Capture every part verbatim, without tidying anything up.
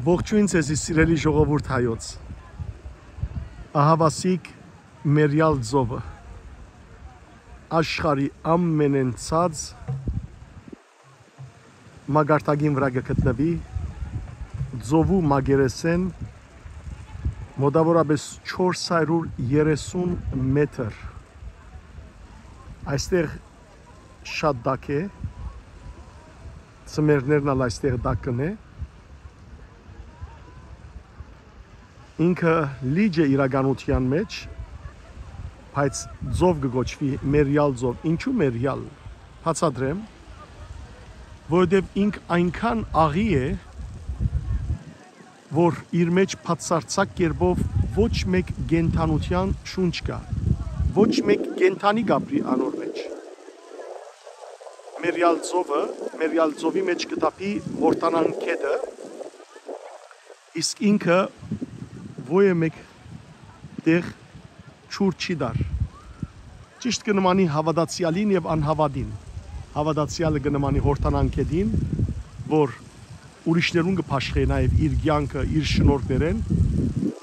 Ողջոյն ձեզի, սիրելի ժողովուրդ հայոց։ Ահավասիկ Մերիալ ծովը, աշխարհի ամենէն ցած մակարդակին վրայ կը գտնուի, ծովու մակերեսէն մօտաւորապէս չորս հարիւր երեսուն մեթր։ Այստեղ շատ տաք է, ծմերներն ալ այստեղ տաք կ'ընէ։ Ինքը լիճ է իրականութեան մէջ, բայց ծով կը կոչուի Մերիալ ծով։ Ինչո՞ւ Մերիալ։ Բացատրեմ, որովհետեւ ինք այնքան աղի է, որ իր մէջ բացարձակ կերպով ոչ մէկ կենդանութեան շունչ կայ, ոչ մէկ կենդանի կ'ապրի անոր մէջ։ Մերիալ ծովը, Մերիալ ծովի մէջ կը թափի Յորդանան գետը, իսկ ինքը ոյ է մէկ տեղ ջուր չի տար։ Ճիշդ կը նմանի հաւատացեալին եւ անհաւատին։ Հաւատացեալը կը նմանի Յորդանան գետին, որ ուրիշներուն կը բաշխէ նաեւ իր կեանքը, իր շնորհներէն,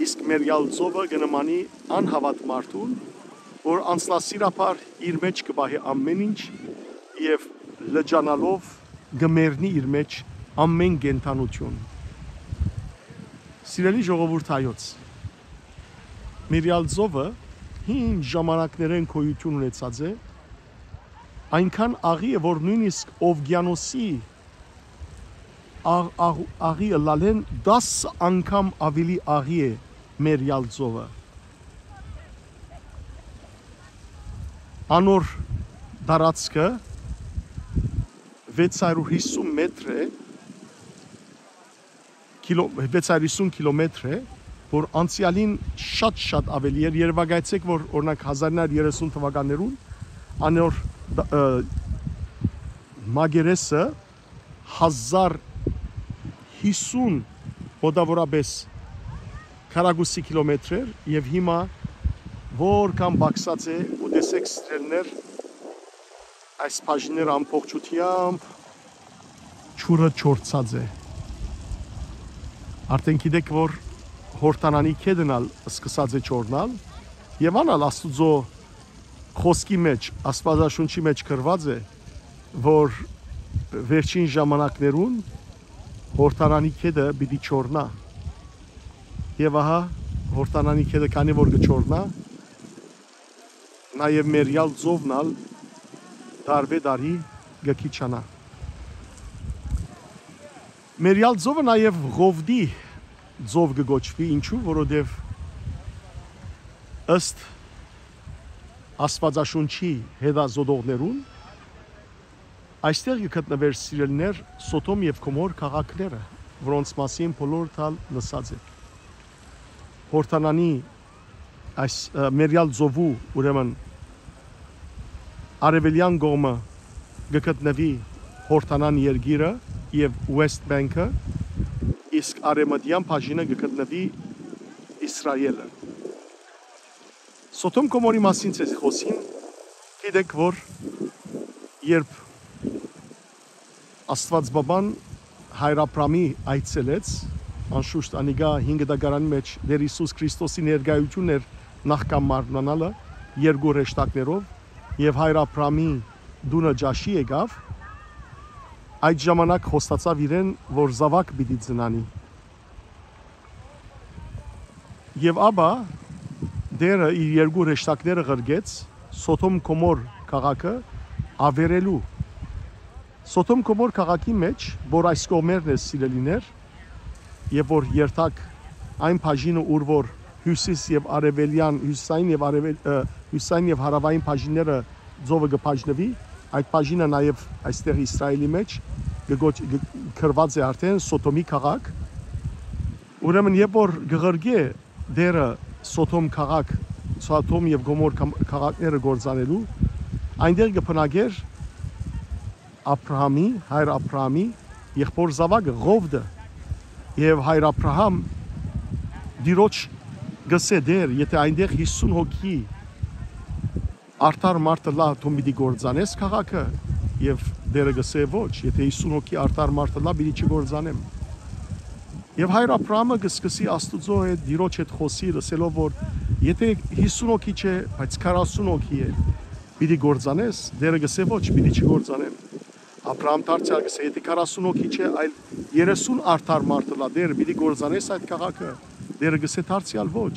իսկ Մերիալ ծովը կը նմանի անհաւատ մարդուն, որ անձնասիրաբար իր մէջ կը պահէ ամէն ինչ եւ լճանալով կը մեռնի իր մէջ ամէն կենդանութիւն։ Սիրելի ժողովուրդ հայոց, Մերիալ ծովը հին ժամանակներէն գոյութիւն ունեցած է, այնքան աղի է, որ նոյնիսկ ովկիանոսի աղ-, աղ-, աղի ըլլալէն տասը անգամ աւելի աղի է Մերիալ ծովը։ Անոր տարածքը վեց հարիւր յիսուն մեթր է, քիլո-, վեց հարիւր յիսուն քիլոմեթր է, որ անցեալին շատ-շատ աւելի էր։ Երեւակայեցէք, որ, օրինակ, հազար ինը հարիւր երեսուն թուականներուն անոր դ-, ը, մակերեսը հազար յիսուն մոտաւորապէս քառակուսի քիլոմեթր էր, եւ հիմա որքան պակսած է, ու տեսեք, սիրելիներ, այս բաժինները ամբողջութեամբ ջուրը չորցած է։ Արդեն գիտեք, որ Յորդանանի գետն ալ սկսած է չորնալ, եւ ան ալ Աստուծոյ խօսքի մէջ, Աստուածաշունչի մէջ գրուած է, որ վերջին ժամանակներուն Յորդանանի գետը պիտի չորնայ։ Եւ ահա, Յորդանանի գետը քանի որ կը չորնայ, նաեւ Մերիալ ծովն ալ տարուէ տարի կը քիչանայ։ Մերիալ ծովը նաեւ Ղովտի ծով կը կոչուի, ինչու, որովհետեւ ըստ Աստուածաշունչի հետազոտողներուն, այստեղ կը գտնուէր, սիրելիներ, Սոդոմ եւ Գոմոր քաղաքները, որոնց մասին բոլորդ ալ լսած եք։ Յորդանանի այս, ը, Մերիալ ծովու, ուրեմն, արեւելեան կողմը կը գտնուի Յորդանան երկիրը եւ West Bank-ը, իսկ արեւմտեան բաժինը կը գտնուի Իսրայէլը։ Սոդոմ Գոմորի մասին ձեզի խօսին, գիտեք, որ երբ Աստուածապապան հայր Աբրամի այցելեց, անշուշտ անիկա հին կտակարանի մէջ Տէր Յիսուս Քրիստոսի ներկայութիւնն էր նախքան մարմնանալը երկու հրեշտակներով, եւ հայր Աբրամի տունը ճաշի եկաւ, այդ ժամանակ խոստացաւ իրեն, որ զաւակ պիտի ծնանի։ Եւ ապա Տէրը իր երկու հրեշտակները ղրկեց Սոդոմ Գոմոր քաղաքը աւերելու։ Սոդոմ Գոմոր քաղաքի մէջ, որ այս կողմերն է, սիրելիներ, եւ որ երթակ այն բաժինը, ուր որ հիւսիս եւ արեւելեան, հիւսային եւ արեւել-, ը, հիւսային եւ հարաւային բաժինները ծովը կը բաժնուի, այդ բաժինը նաեւ այստեղ Իսրայէլի մէջ կը գոչ-, կը, գրուած է արդեն Սոդոմի քաղաք։ Ուրեմն, երբ որ կը ղրկէ Տէրը Սոդոմ քաղաք, Սոդոմ եւ Գոմոր կամ-, քաղաքները կործանելու, այնտեղ կը բնակէր Աբրահամի, հայր Աբրահամի եղբոր զաւակը Ղովտը, եւ հայր Աբրահամ Տիրոջ կ'ըսէ. «Տէր, եթէ այնտեղ յիսուն հոգի արդար մարդ ըլլայ, դուն պիտի կործանե՞ս քաղաքը»։ Եւ Տէրը կ'ըսէ. «Ոչ, եթէ յիսուն հոգի արդար մարդ ըլլայ, պիտի չկործանեմ»։ Եւ հայր Աբրահամը կը սկսի Աստուծոյ հետ, Տիրոջ հետ խօսիլ, ըսելով որ եթէ յիսուն հոգի չէ, բայց քառասուն հոգի է, պիտի կործանես, Տէրը կ'ըսէ ոչ, պիտի չկործանեմ։ Աբրահամ դարձեալ կ'ըսէ, եթէ քառասուն հոգի չէ, այլ երեսուն արդար մարդ ըլլայ, Տէր, պիտի կործանես այդ քաղաքը, Տէրը կ'ըսէ դարձեալ ոչ։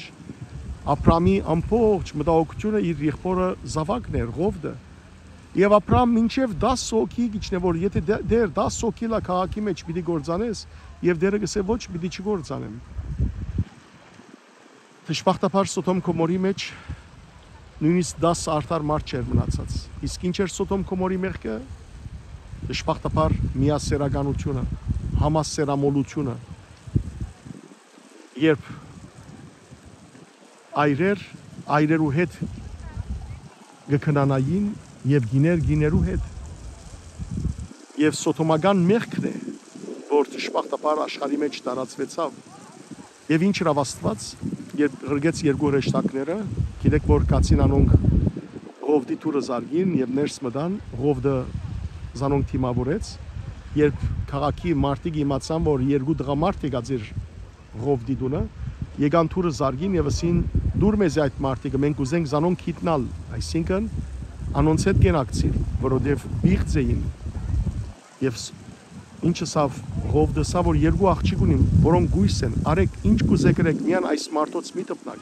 Աբրահամի ամբողջ մտահոգութիւնը իր եղբօրը զաւակն էր, Ղովտը։ Եւ Աբրահամ մինչեւ տասը հոգի կ'իջնէ, որ եթէ Տէ-, Տէր, տասը հոգի լա քաղաքի մէջ պիտի կործանես, եւ Տէրը կ'ըսէ ոչ, պիտի չկործանեմ։ Դժբախտաբար Սոդոմ Գոմորի մէջ նոյնիսկ տասը արդար մարդ չէր մնացած։ Իսկ ինչ էր Սոդոմ Գոմորի մեղքը? Դժբախտաբար միասերականութիւնը, համասերամոլութիւնը, երբ այրեր այրերու հետ կը քնանային եւ կիներ կիներու հետ։ Եւ սոդոմական մեղքն է, որ դժբախտաբար աշխարհի մէջ տարածուեցաւ։ Եւ ինչ ըրաւ Աստուած, երբ ղրկեց երկու հրեշտակները, գիտեք որ գացին անոնք Ղովտի դուռը զարկին եւ ներս մտան, Ղովտը զանոնք դիմաւորեց, երբ քաղաքի մարդիկ իմացան որ երկու տղամարդ եկած էր Ղովտի տունը, եկան դուռը զարկին եւ ըսին. «Դուր մեզի այդ մարդիկը, մենք կ'ուզենք զանոնք գիտնալ», այսինքն անոնց հետ կենակցիլ, որովհետեւ պիղծ էին։ Եւ ս-, ինչ ըսաւ Ղովտը, սա որ երկու աղջիկ ունիմ, որոնք կոյս են, արեք, ինչ կ'ուզէք ըրեք, միայն այս մարդոց մի դպնակ։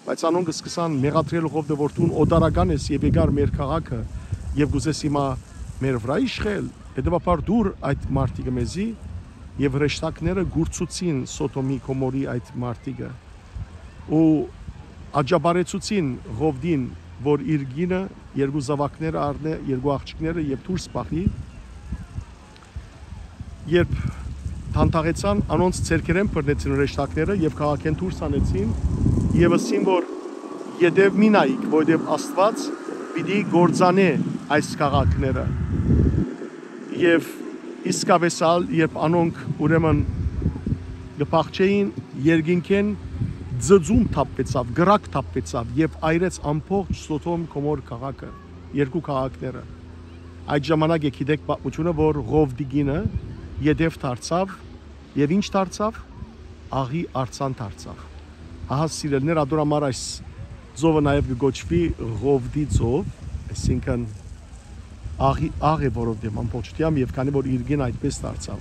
Բայց անոնք սկսան մեղադրել Ղովտը, որ դուն օտարական ես եւ եկար մեր քաղաքը եւ կ'ուզես հիմա մեր վրայ իշխել, հետեւաբար դուր այդ մարդիկը մեզի։ Եւ հրեշտակները կուրցուցին Սոդոմի Գոմորի այդ մարդիկը ու աջաբարեցուցին Ղովտին, որ իր կինը, երկու զաւակները առնէ, երկու աղջիկները եւ դուրս պահի։ Երբ դանդաղեցան, անոնց ձեռքերէն բռնեցին հրեշտակները եւ քաղաքէն դուրս հանեցին եւ ըսին որ ետեւ մի նայիք, որովհետեւ Աստուած պիտի կործանէ այս քաղաքները։ Եւ իսկապէս ալ, երբ անոնք ուրեմն կը փախչէին, երկինքէն ծծում թափուեցաւ, կրակ թափուեցաւ եւ այրեց ամբողջ Սոդոմ Գոմոր քաղաքը, երկու քաղաքները։ Այդ ժամանակ է գիտեք պատմությունը, որ Ղովտի կինը ետեւ դարձաւ եւ ինչ դարձաւ, աղի արձան դարձաւ։ Ահա սիրելիներ, ատոր համար այս ծովը նաեւ կը կոչուի Ղովտի ծով, այսինքն աղի աղ է, որովհետեւ ամբողջությամբ, եւ քանի որ իր կինը այդպես դարձաւ։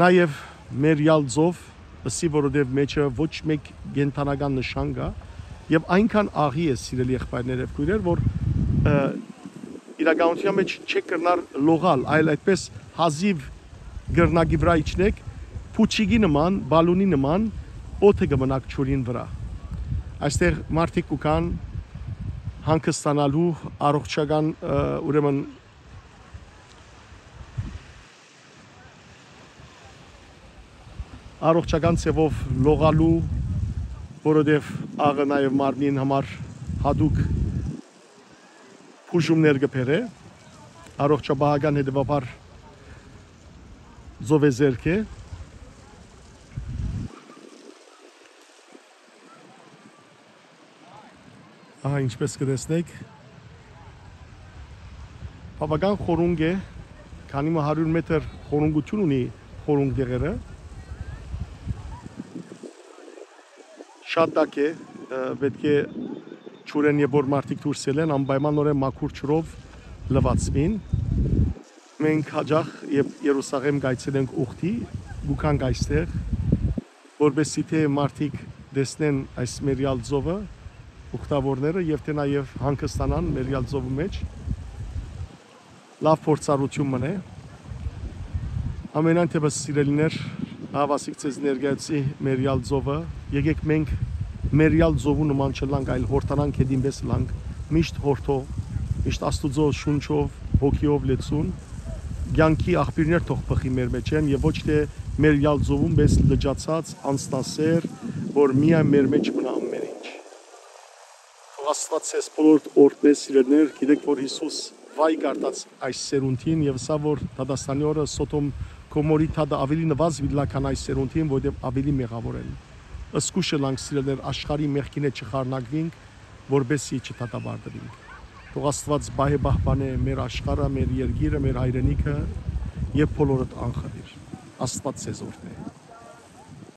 Նաեւ մերյալ ծով, ըսի որովհետեւ մեջը ոչ մեկ կենդանական նշան կա, եւ այնքան աղի է, սիրելի եղբայրներ եւ քոյրեր, որ, ը, իրականության մէջ չեք կրնար լողալ, այլ այդպես հազիւ կրնակի վրայ իջնեք, փուչիկի նման, բալունի նման, օդը կը մնաք ջուրին վրայ։ Այստեղ մարդիկ կու գան հանգստանալու, առողջական, ը, ուրեմն առողջական ձևով լողալու, որովհետեւ աղը նաեւ մարմնին համար հատուկ բուժումներ կը բերէ, առողջապահական հետեւաբար ծովեզերք է։ Ահա, ինչպես կը տեսնեք, բավական խորունկ է, քանի մը հարիւր մետր խորունկութիւն ունի խորունկ դեղերը։ Շատ տաք է, ը, պէտք է ջուրէն, երբ որ մարդիկ դուրս ելեն, անպայմանօրէն մաքուր ջուրով լուացուին։ Մենք յաճախ, երբ Երուսաղեմ կայցելենք ուխտի, կու գանք այստեղ, որպեսզի թէ մարդիկ տեսնեն այս մերյալ ծովը, ուխտավորները, եւ թէ նաեւ հանգստանան մերյալ ծովի մէջ, լաւ փորձառութիւն մըն է։ Ամենայն դեպս, սիրելիներ, ահա ասիկ ձեզ ներկայացի մերյալ ծովը, եկեք մենք մերյալ ծովու նման չըլլանք, այլ Յորդանան գետին պէս ըլլանք, միշտ յորդող, միշտ Աստուծոյ շունչով, հոգիով լեցուն, կեանքի աղբիւրներ թող բխի մեր մէջէն եւ ոչ թէ մերյալ ծովուն պէս լճացած անձնասեր, որ միայն մեր մէջ մնայ ամեն ինչ։ Թող Աստուած ձեզ բոլոր օրհնէ, սիրելիներ, գիտեք որ Յիսուս վայ կարդաց այս սերունդին եւ ըսաւ որ դատաստանի օրը Սոդոմ Գոմորի դատը աւելի նուազ պիտի ըլլայ քան այս սերունդին, որովհետեւ աւելի մեղաւոր են։ Զգոյշ ըլլանք, սիրելիներ, աշխարհի մեղքին հետ չխառնակուինք, որպեսզի չդատապարտուինք։ Թող Աստուած պահէ պահպանէ մեր աշխարհը, մեր երկիրը, մեր հայրենիքը եւ բոլորդ անխտիր։ Աստուած ձեզ օրհնէ։